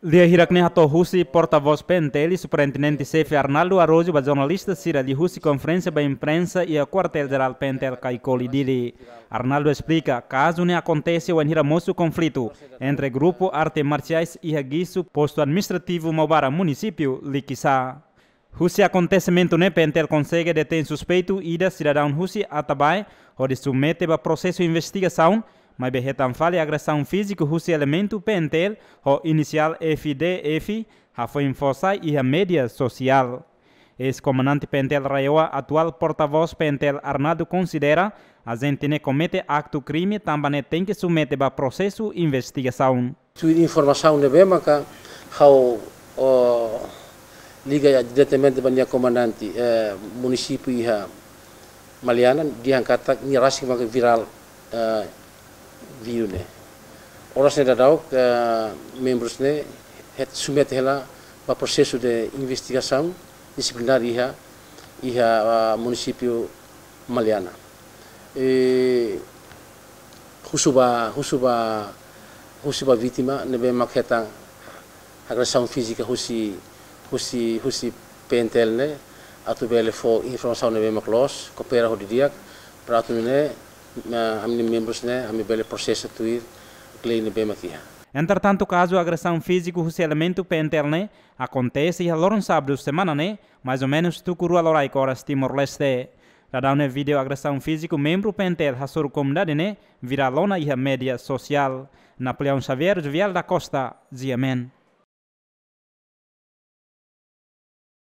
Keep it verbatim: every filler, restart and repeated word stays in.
Lia hirak ne'e hato'o husi portavós P N T L, Superintendente Xefe Arnaldo Araújo ba jornalista sira liuhusi konferénsia ba imprensa iha Kuartél Jerál P N T L Caicoli Dili. Arnaldo esplika, kazu ne'e akontese wainhira mosu konflitu entre grupu arte marsiais iha Guiço, postu administrativu Maubara, munisípiu Liquiçá. Husi akontesimentu ne'e P N T L konsege detein suspeitu ida sidadaun husi Atabae, hodi submete ba prosesu investigasaun, maibé hetan fali agresaun fíziku husi elementu P N T L ho inisiál F D F, hafoin fó sai iha média sosiál. Eis-komandante P N T L RAEOA, atuál portavós P N T L Arnaldo konsidera, ajente ne'e komete aktu krime tanba ne'e tenke submete ba prosesu investigasaun. Tuir informasaun ne'ebé maka ha'u, o, liga diretamente ba nia komandante, eh, munisípiu iha Maliana, dehan katak nia rasik maka virál, eh, vídeo ne'e. Oras ne'e daudaun, eh, membrus ne'e hetan submete hela ba prosesu de investigasaun disiplinár iha, iha, ah, munisípiu Maliana. E husu ba, husu ba, husu ba vítima ne'ebé mak hetan agresaun fízika husi, husi, husi P N T L ne'e, atu bele fó informasaun ne'ebé mak loos, koopera ho didi'ak, para atu nune'e, ah, ami-nia membrus ne'e, ami bele prosesa tuir lei ne'ebé mak iha. Entretantu, kazu agresaun fíziku husi elementu P N T L ne'e akontese iha loron sábadu semana ne'e, mais ou menus tuku rua loraik oras Timor-Leste. Daudaun ne'e vídeo agresaun fíziku membru P N T L hasoru komunidade ne'e virál ona iha média sosiál. Napoleão Xavier, Jovial da Costa, G M N.